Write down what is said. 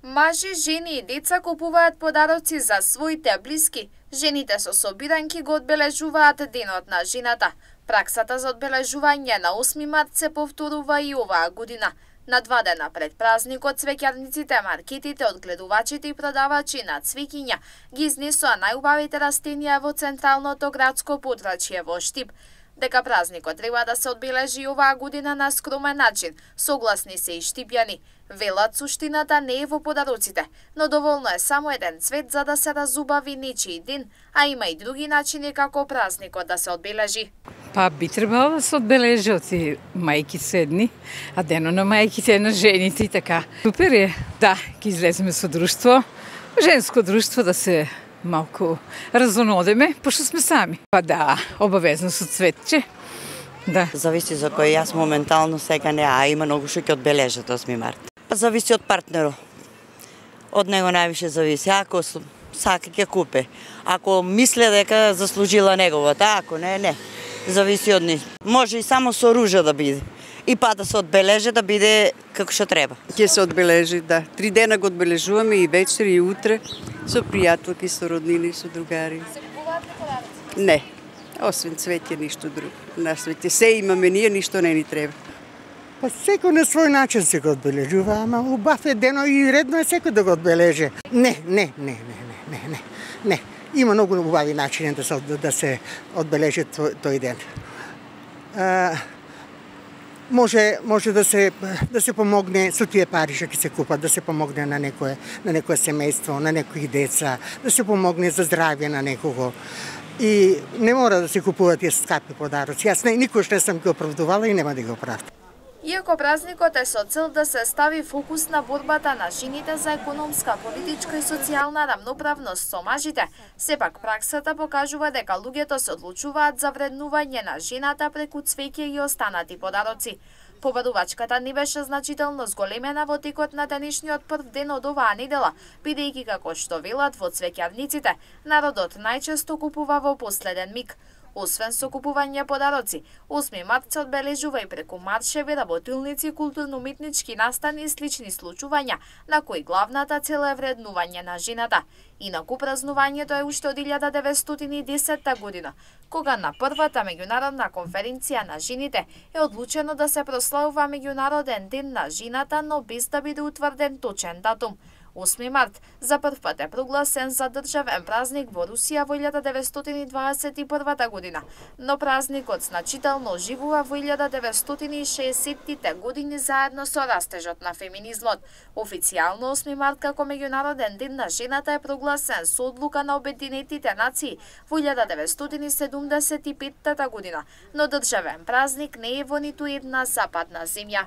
Мажи, жени и деца купуваат подароци за своите блиски. Жените со собиранки го одбележуваат Денот на жената. Праксата за одбележување на 8 март се повторува и оваа година. На 2 дена пред празникот, цвеќарниците, маркетите, одгледувачите и продавачи на цвеќиња ги изнесоа најубавите растенија во централното градско подрачје во Штип. Дека празникот треба да се одбележи оваа година на скромен начин, согласни се и штипјани. Велат, суштината не е во подароците, но доволно е само еден цвет за да се разубави нечиј ден, а има и други начини како празникот да се одбележи. Па би требало да се одбележи од мајки седни, а денот на мајките, на жените и така. Супер е, да, ќе излеземе со друштво, женско друштво да се малку разонодеме, пошто сме сами. Па да, обавезно со цветче. Да. Зависи за кој, јас моментално сега не, а има многу што ќе одбележат 8 март. Па зависи од партнерот. Од него највише зависи. Ако сака ќе купе. Ако мисле дека заслужила неговата, ако не. Зависи од нив. Може и само со ружа да биде. И па да се одбележи да биде како што треба. Ќе се одбележи, да. 3 дена го одбележуваме и вечер и утре со пријателки, со роднини, со другари. Се купуваат ли подароци? Не. Освен цвеќе, ништо друго. На свете се имаме ние, ништо не ни треба. Па секој на свој начин се го одбележува, ама убав е дено и редно е секој да го одбележи. Не. Има многу убави начини да се одбележи тој ден. Може да се помогне со тие пари што ќе се купат, да се помогне на некое семејство, на некои деца, да се помогне за здравје на некого. И не мора да се купуваат тие скапи подароци. Јас никош не сум ги оправдувала и нема да ги оправдам. Иако празникот е со цел да се стави фокус на борбата на жените за економска, политичка и социјална рамноправност со мажите, сепак праксата покажува дека луѓето се одлучуваат за вреднување на жената преку цвеќе и останати подароци. Победувачката не беше значително зголемена во текот на денешниот прв ден од оваа недела, бидејќи како што велат во цвеќарниците, народот најчесто купува во последен миг. Освен со купување подароци, 8 март се одбележува и преку маршеви, работилници, културно-уметнички настани и слични случувања, на кои главната цел е вреднување на жената. Инаку празнувањето е уште од 1910 година, кога на првата меѓународна конференција на жените е одлучено да се прославува меѓународен ден на жената, но без да биде утврден точен датум. 8 март за прв пат е прогласен за државен празник во Русија во 1921 година, но празникот значително оживува во 1960-тите години заедно со растежот на феминизмот. Официјално 8 март како меѓународен ден на жената е прогласен со одлука на Обединетите нации во 1975 година, но државен празник не е во ниту една западна земја.